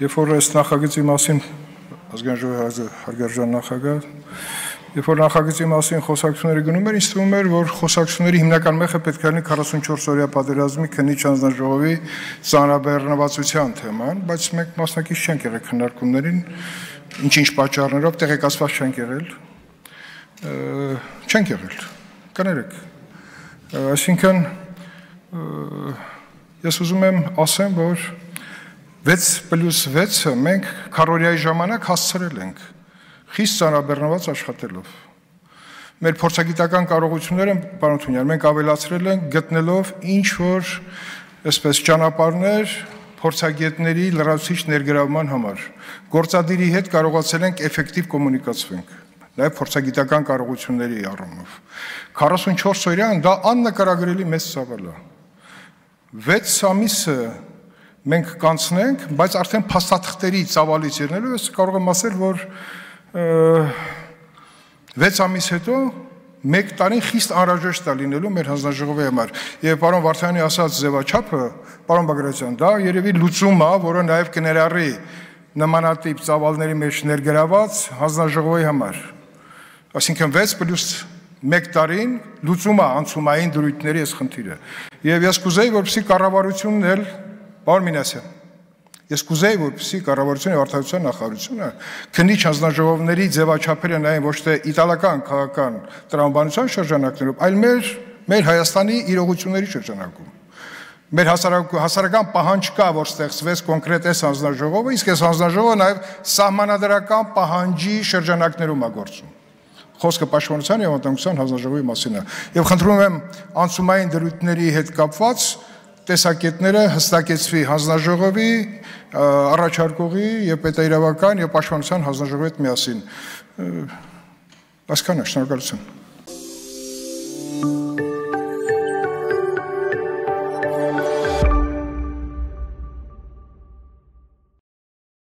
Երբ որ այս նախագծի մասին ազգային ժողովի հարգարժան նախագահ, երբ որ նախագծի մասին խոսակցությունները գնում էր, ինձ թվում էր, որ խոսակցությունների հիմնական մեխը պետք է լինի 44-օրյա պատերազմի քննիչ հանձնաժողովի ծանրաբեռնվածության թեման, բայց մենք մասնակից չենք եղել քննարկումներին, ինչ-ինչ պատճառներով տեղեկացված չենք եղել, կներեք, այսինքն ես ուզում եմ ասեմ, որ 6+6-ը մենք քառօրյայի ժամանակ հասցրել ենք, խիստ ծանրաբեռնված աշխատելով։ Մեր փորձագիտական կարողությունները, պարոն Թունյան, մենք ավելացրել ենք գտնելով ինչ-որ այսպես ճանապարհներ փորձագետների լրացուցիչ ներգրավման համար։ Գործադիրի հետ կարողացել ենք էֆեկտիվ կոմունիկացվենք, նաև փորձագիտական կարողությունների առումով։ 44 օրյան դա աննկարագրելի մեծ ծավալ է։ 6 ամիսը մենք կանցնենք, բայց արդեն փաստաթղթերի ծավալից ելնելով ես կարող եմ ասել, որ 6 ամիս հետո 1 տարին խիստ անհրաժեշտ է լինելու մեր հանձնաժողովի համար։ Եվ պարոն Վարդանյանի ասած ձևաչափը, պարոն Բագրատյան, դա երևի լուծում է, որը նաև կներառի նմանատիպ ծավալների մեջ ներգրաված հանձնաժողովի համար։ Այսինքն 6+1 տարին լուծում է անցումային դրույթների այս խնդիրը։ Եվ ես կուզեի, որպեսզի կառավարությունն էլ, պարոն Մինասյան, ես կուզեի, որպեսզի կառավարությունը եւ արտադրության նախարարությունը քննիչ հանձնաժողովների ձևաչափերը նայեն ոչ թե իտալական քաղաքական տրամաբանության շրջանակներում, այլ մեր Հայաստանի իրողությունների շրջանակում։ Մեր հասարակական պահանջ կա, որ ստեղծվեց կոնկրետ այս հանձնաժողովը, իսկ այս հանձնաժողովը նաեւ սահմանադրական պահանջի շրջանակներում է գործում։ Խոսքը պաշտպանության եւ անվտանգության հանձնաժողովի մասին է։ Եվ խնդրում եմ անցումային դրույթների հետ կապված տեսակետները հստակեցվի հանձնաժողովի, առաջարկողի եւ պետաիրավական եւ պաշտպանության հանձնաժողովի հետ միասին։ Այսքանը, շնորհակալություն։